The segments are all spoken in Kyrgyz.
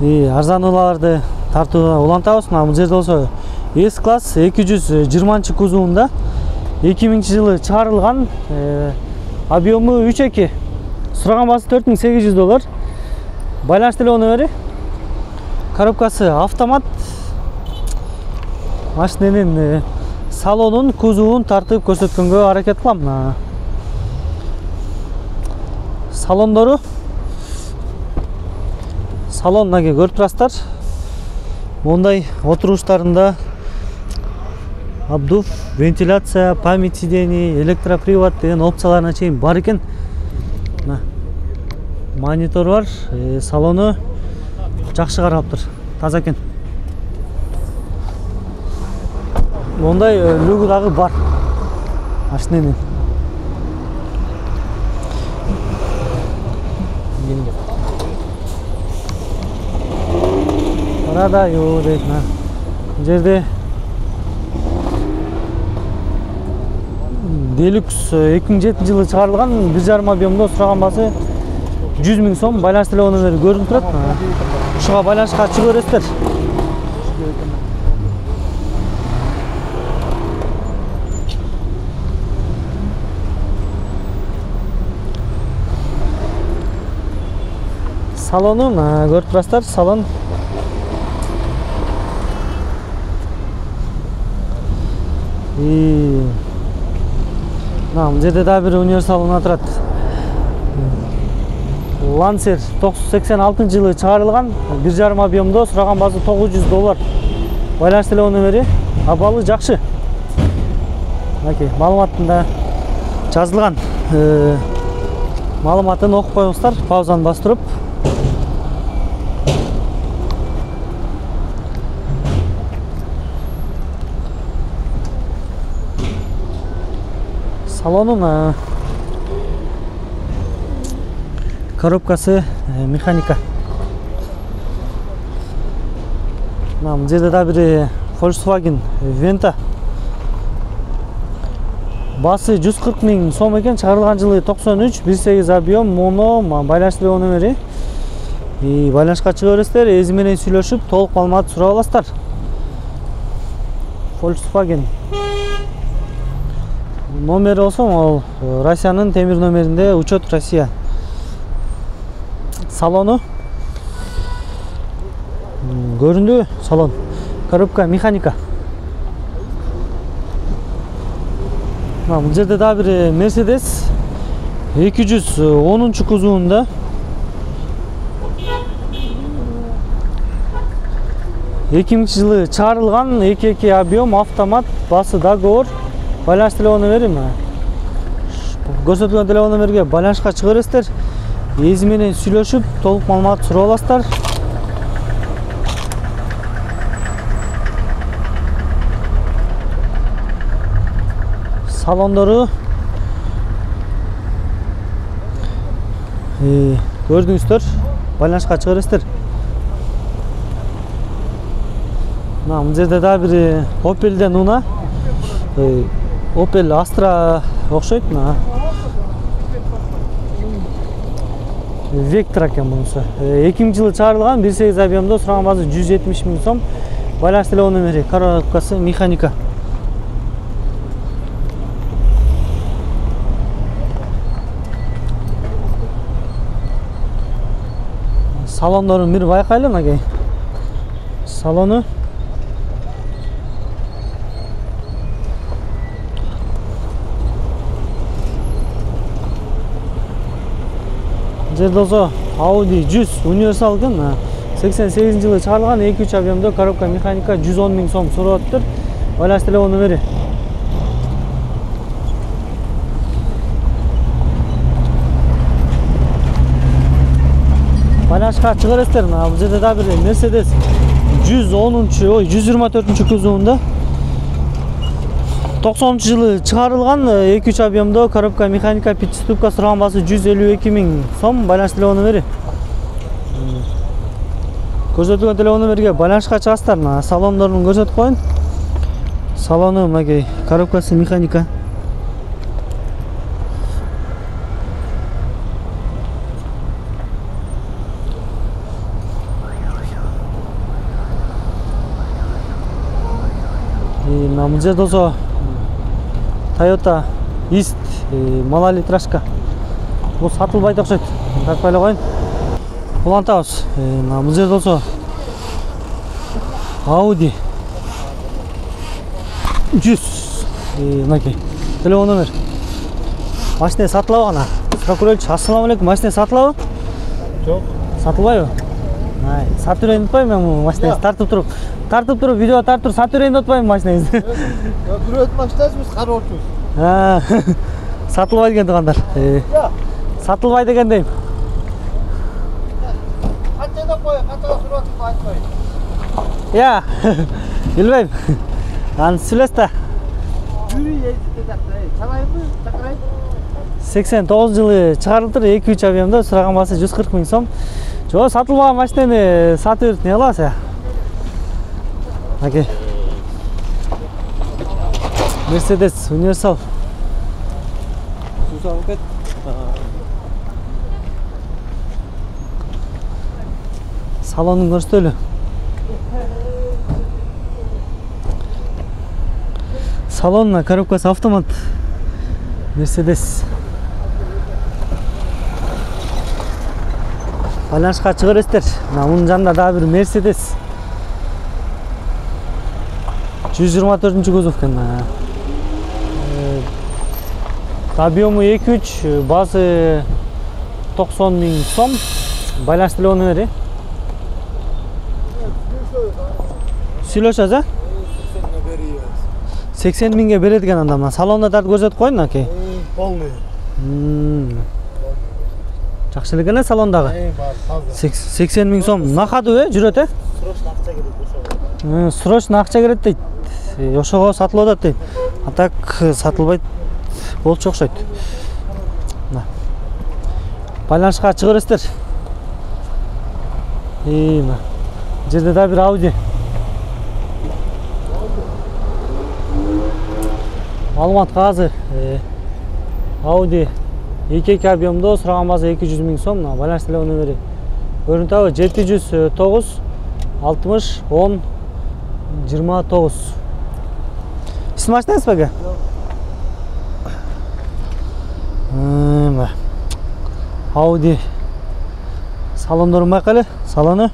арзанууларды тартууга улантабыз. Бул жерде болсо S класс 220 кузовунда 2000-жылы чыгарылган, объему 3.2. Сураган баасы $4800. Байланыш телефону коробкасы автомат. Машинанын салонун, кузовун тартып көрсөткөнгө аракет кылам. Салондору. Салон мынакей көрүп турасыздар. Мондай отуруштарында обдув, вентиляция, память сидений, электропривод деген опцияларына чейин бар экен. Монитор бар, салону жакшы каралыптыр, таза экен. Мондай люгу дагы бар машинанын. Арада yok deyip жерде Deluxe 2007-жылы чыгарылган 1,5 объемдо сураган баасы 100 000 сом. Байланыш телефон номери көрүнүп турат. Ушуга байланышка чыга бересиздер. Салонун көрүп турасыздар, салон. Бул жерде да бир универсал турат. Lancer 86-жылы чыгарылган, 1,5 объемдо сураган баасы $900. Байланыш телефон номери, абалы жакшы. Мынакей маалыматында жазылган. Маалыматын окуп коюңуздар, паузаны бастырып. Салонун коробкасы механика. Бул жерде да бир Volkswagen Venta. Баасы 140 000 сом экен, чыгарылган жылы 93, 1.8 объем, моно, байланыш телефон номери. Байланышка чыга бересиздер, эзи менен сүйлөшүп, толук маалымат сурап аласыздар. Volkswagen. Номери болсо, ал Россиянын темир номеринде, учет Россия. Салону. Көрүндү салон. Коробка механика. Бул жерде да бир Mercedes 210 кузовунда. Жылы чыгарылган, 2.2 объем, автомат, басы договор. Байланыш телефон номери. Көрсөтүлгөн телефон номерге байланышка чыга бересиздер. Эзи менен сүйлөшүп, толук маалымат сурап аласыздар. Салондору көрдүңүздөр, байланышка чыга бересиздер. Бул жерде да бир Opel'ден уна, Opel Astra окшойт. Vectra экен бунусу. 2000-жылы чыгарылган, 1.8 объемдо сураган баасы 170 000 сом. Байланыш телефон номери, коробкасы механика. Салондорун бир байкайлы, мынакей. Салону. Жерде болсо Audi 100 универсал экен. 88-жылы чыгарылган, 2.3 объемдо коробка механика, 110 000 сом сурап атыптыр. Байланыш телефон номери. Байланышка чыга бересиздер. Бул жерде да бир Mercedes 124 кузовунда. 90-жылы чыгарылган, 2.3 объемдо коробка механика, пятиступка, сураган баасы 152 000 сом. Байланыш телефон номери. Көрсөтүлгөн телефон номерге байланышка чыгасыздар. Салондорун көрсөтүп коюн. Салону мынакей, коробкасы механика. Бул жерде болсо Toyota East малолитражка. Бул сатылбайт окшойт. Тартпай эле коюн. Улантабыз. Бул жерде болсо Audi 100. Мынакей. Телефон номер. Машина сатылабы ана? Прокурорч, ассаламу алейкум. Машина сатылабы? Жок. Сатылбайбы? Сатып берейин деп атпаймынбы мен машинаңызды тартып туруп видео тартып туруп сатып берейин деп атпаймынбы машинаңызды? Бирөөдүн машинасы биз карап отурбуз. Сатылбайт экен туугандар. Сатылбайт экен дейм. Канчада кой, канчага сурап атып айтпай. Билбейм. Аны сүйлөс да. Чалайбы, чакырайбы? 89 жылы чыгарылыптыр, 2-3 объемда, сураган баасы 140 000 сом. Жо, сатылбаган машинаны сатып берип не кыласыз? Окей. Mercedes Universal. Сусагы кет. Салонун көрсөтөлү. Салонна коробкасы автомат. Mercedes. Байланышка чыгып бересиздер. Мунун жанында дагы бир Mercedes. 124-кузов экен. Объему 2.3, базы 90 000 сом. Байланыш телефону бери. Сүйлөшөбүз, 80 000ге берет экен анда. Салонда тартып көрсөтүп коюн, аке. Полный. Жакшы эле экен салондагы. 80 000 сом. Накадыбы, жүрөт, Срочно акча керек ошого. Срочно акча керек дейт. Ошого сатылып атат дейт. А так сатылбайт болчу окшойт. Байланышка чыгып бересиздер. Жерде да бир Audi. Маалымат кагазы. Audi 2 объемдо, сураган баасы 200 000 сом. Байланыш телефону бери. Көрүнтөбү 709 60 10 29. Сиз машинаңыз беге? Audi. Салондорун байкайлы. Салону.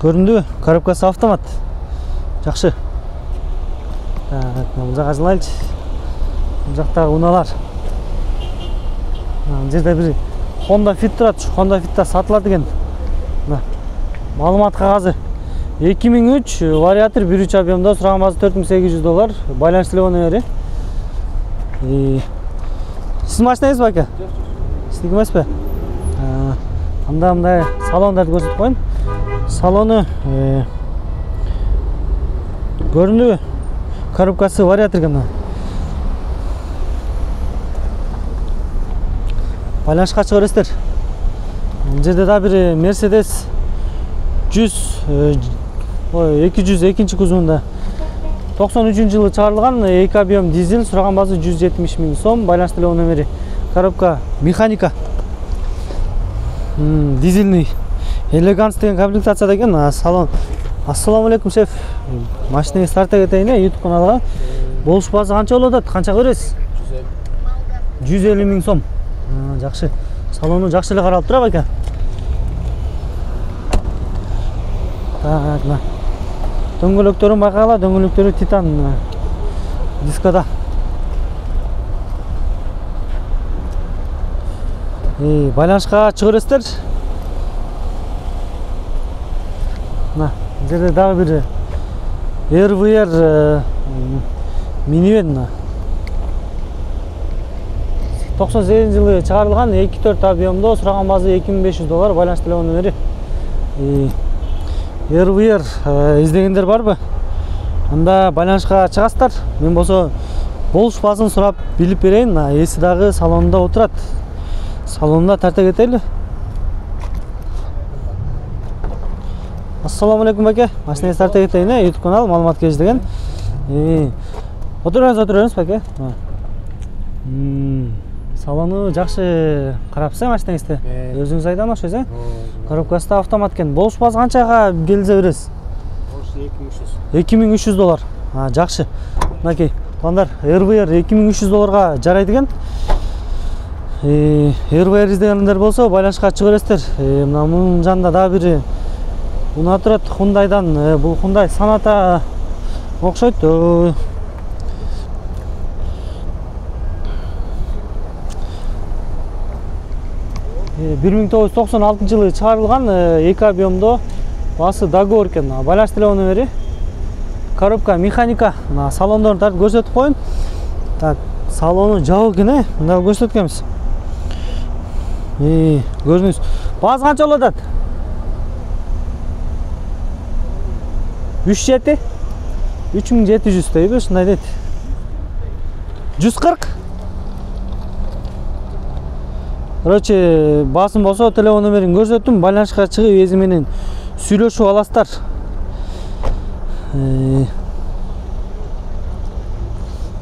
Көрүндүбү? Коробкасы автомат. Жакшы. Бул жака жылайлычы. Бул жактагы унаалар. Бул жерде бир Honda Fit турат. Honda Fit сатылат экен. Маалымат кагазы. 2003 вариатор 1.3 объемда, сураган баасы $4800. Байланыш телефону бери. Сиз машинаңыз ба ака? Сиздики эмеспи? Анда мындай салондарды көрсөтүп коюн. Салону көрүндүбү? Коробкасы вариатор экен. Байланышка чыгып бересиздер. Бул жерде да бир Mercedes 202 кузовунда 93-жылы чыгарылган, 2 объем дизель, сураган баасы 170 000 сом. Байланыш телефону бери. Коробка механика. Дизельный. Элеганс деген комплектацияда экен. Салон. Ассаламу алейкум, шеф. Машинаңыз тарта кетейин, YouTube каналга. Болуш баасы канча болуп атат? Канча көрөсүз? 150 000 сом. Жакшы. Салону жакшы эле каралып турабы экен? Так, дөңгөлөктөрүн байкагыла, дөңгөлөктөрү титан дискода. Байланышка чыгып бересиздер. Жерде дагы бир RVR минивэн. 98-жылы чыгарылган, 2-4 объемдо, сураган баасы $2500. Байланыш телефону бери. RVR издегендер барбы? Анда байланышка чыгасыздар. Мен болсо болуш баасын сурап билип берейин. Эси дагы салонунда отурат. Салонунда тарта кетели. Ассаламу алейкум баке. Машинаңыз тарта кетейин, YouTube канал маалымат кеш деген. Отуруңуз баке. Салону жакшы карапсыз машинаңызды. Өзүңүз айдан окшойсуз, Коробкасы да автомат экен. Болуш баасы канчага келизе бересиз? Болуш $2300. Жакшы. Мынакей, туугандар, РВР $2300 жарайт экен. РВР издегендер болсо байланышка чыга бересиздер. Мына мунун жанында дагы бири унаа турат, Hyundai'дан. Бул Hyundai Sonata окшойт. 1996 жылы чыгарылган, 2 объемдо, басы договор экен. Байланыш телефон номери, коробка механика. Салондорун тартып көрсөтүп коюн. Так, салону жабык экен, мында көрсөткөнбүз. Көрдүңүз. Базы канча болуп атат? 3700 дейби, ушундай дейт. 140. Короче, басым болсо телефон номерин көрсөттүм, байланышка чыгып эзи менен сүйлөшүп аласыздар.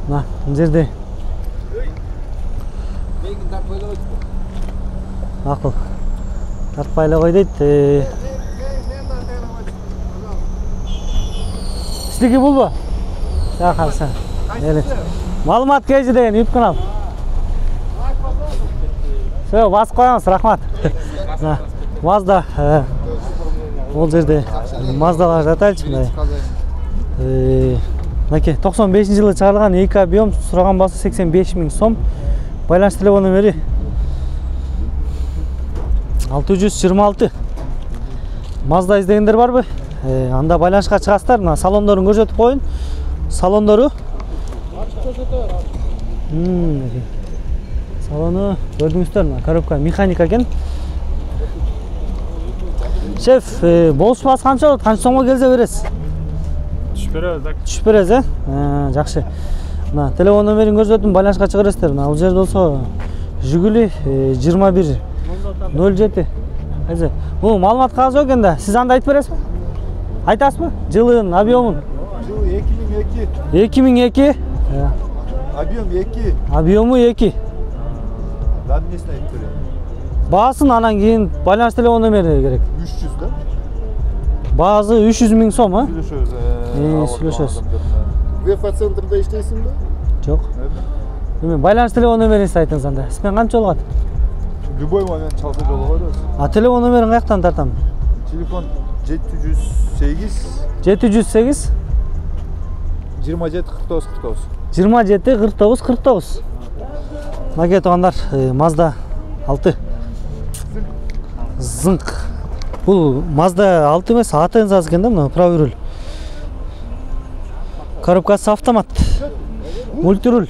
Мына жерде акыл тартпай эле кой дейт. Сиздики булбу? Жакшы. Маалымат KG деген YouTube канал. Все, басып коёңуз, рахмат. Mazda, ол жерде Маздалар жатайлычы мындай. Мынакей 95-жылы чыгарылган 2 объем, сураган басы 85 000 сом. Байланыш телефон номери 626. Mazda издегендер барбы? Анда байланышка чыгасыздар. Мына салондорун көрсөтүп коюн. Салондору. Салону көрдүңүздөр, мына коробка механика экен. Шеф, болушпасы канча болот? Канча сомго келсе бересиз? Түшүп беребиз, так. Түшүп бересиз, жакшы. Мына телефон номерин көрсөттүм, байланышка чыга бересиздер. Мына бул жерде болсо Жигули 2107. Бул маалымат кагазы экен да. Сиз анда айтып бересизби? Айтасызбы? Жылын, объемун? Жылы 2002. 2002. Объем 2. Объему 2. Даннысын айтып берем. Баасын анан кийин байланыш телефон номери керек. 300 да? Баасы 300 000 сом, а? Сүйлөшөбүз. ВФ центрда иштейсиңби? Жок. Эме байланыш телефон номеринизди айтыңыз анда. Сизмен канча болгат? Любой момент чалса жолуга койбойсуз. Телефон номерин каяктан тартам? Телефон 708 708 27 49 49. 27 49 49. Мынакей туугандар, Mazda 6. Зыңк. Бул Mazda 6 эмес, АТН жазып экен да, мына правый руль. Коробкасы автомат. Мультируль.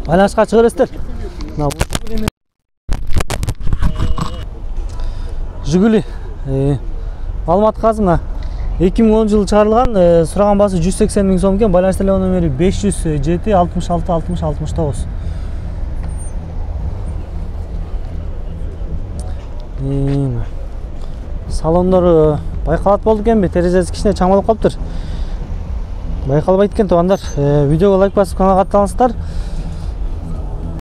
Байланышка чыга бересиздер. Мына Жигули. Маалымат казы мына 2010 жылы чыгарылган, сураган басы 180 000 сом экен. Байланыш телефон номери 507 66 60 69. Салондору байкалат болду экенби? Терезеси кичине чаңалып калыптыр. Байкалбайт экен туугандар. Видеого лайк басып каналга аттаныңыздар.